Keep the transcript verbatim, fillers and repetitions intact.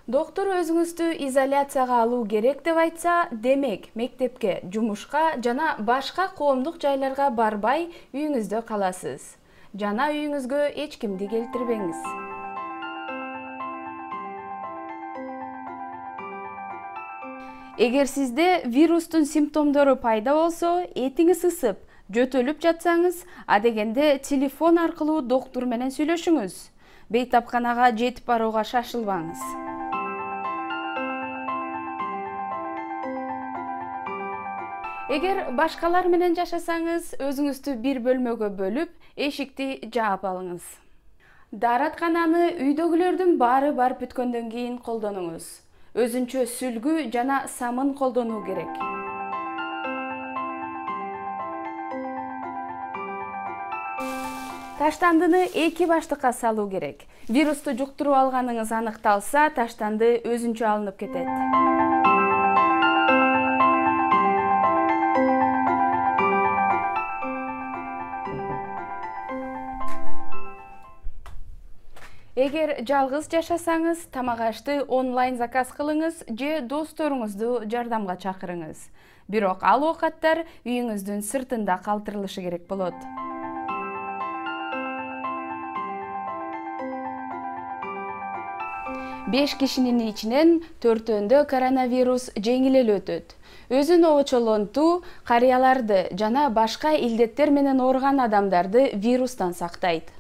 Доктор өзүңүздү изоляцияга алуу керек деп айтса, демек мектепке, жумушка жана башка коомдук жайларга барбай үйүңүздө каласыз. Жана үйүңүзгө эч кимди келтирбеңиз. Эгер сизде вирустун симптомдору пайда болсо, этиңиз ысып, жөтөлүп жатсаңыз, адегенде телефон аркылуу доктор менен сүйлөшүңүз. Бейтапканага жетип барууга шашылбаңыз. Эгер башкалар менен жашасаңыз, өзүңүздү бир бөлмөгө бөлүп, эшикти жаап алыңыз. Даараткананы үйдөгүлөрдүн баары барып бүткөндөн кийин колдонуңуз. Өзүнчө сүлгү жана самын колдонуу керек. Таштандыны эки баштыкка салуу керек. Вирусту жуктуруп алганыңыз аныкталса, таштанды өзүнчө алынып кетет. Эгер жалгыз жашасаңыз, тамак-ашты онлайн заказ кылыңыз же досторуңузду жардамга чакырыңыз. Бирок ал оокаттар үйүңүздүн сыртында калтырылышы керек болот. беш кишинин ичинен төртөөндө коронавирус жеңил эле өтөт. Өзүн обочолонтуу карыяларды жана башка илдеттер менен ооруган адамдарды вирустан сактайт.